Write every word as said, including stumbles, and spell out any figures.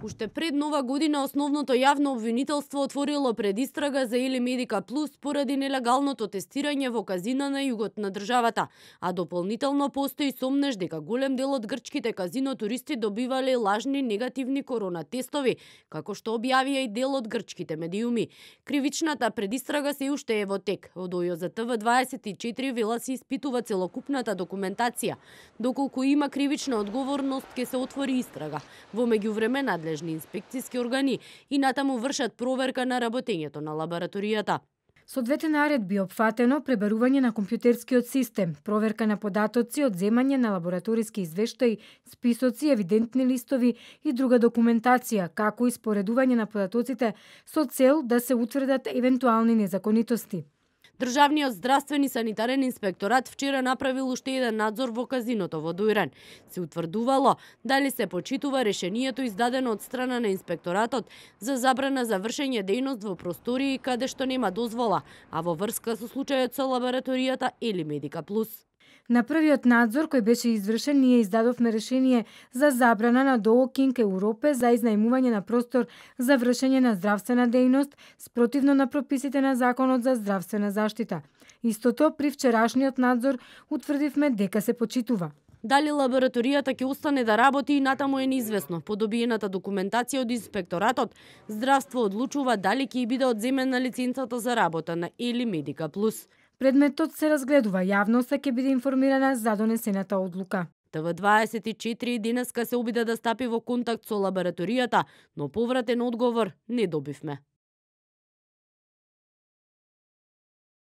Уште пред нова година основното јавно обвинителство отворило предистрага за Ели Медика Плюс поради нелегалното тестирање во казина на југот на државата, а дополнително постои сомнеж дека голем дел од грчките казино туристи добивале лажни негативни корона тестови, како што објавија и дел од грчките медиуми. Кривичната предистрага се уште е во тек. Од О Ј За Т В дваесет и четири вела се испитува целокупната документација. Доколку има кривична одговорност, ќе се отвори истрага. Во меѓувреме надлежни инспекциски органи и натаму вршат проверка на работењето на лабораторијата. Со двете наредби опфатено пребарување на компјутерскиот систем, проверка на податоци, одземање на лабораториски извештаи, списоци, евидентни листови и друга документација, како и споредување на податоците со цел да се утврдат евентуални незаконитости. Државниот здравствен и санитарен инспекторат вчера направил уште еден надзор во казиното во Дујран. Се утврдувало дали се почитува решението издадено од страна на инспекторатот за забрана за вршење дејност во простории каде што нема дозвола, а во врска со случајот со лабораторијата Ели Медика Плюс. На првиот надзор кој беше извршен, ние издадовме решение за забрана на ДОО Кинг Европе за изнајмување на простор за вршење на здравствена дејност спротивно на прописите на Законот за здравствена заштита. Истото при вчерашниот надзор утврдивме дека се почитува. Дали лабораторијата ќе остане да работи и натаму е неизвестно. По добиената документација од инспекторатот, здравство одлучува дали ќе биде одземена лиценцата за работа на Ели Медика Плюс. Предметот се разгледува, јавноста ќе биде информирана за донесената одлука. Т В дваесет и четири денеска се обида да стапи во контакт со лабораторијата, но повратен одговор не добивме.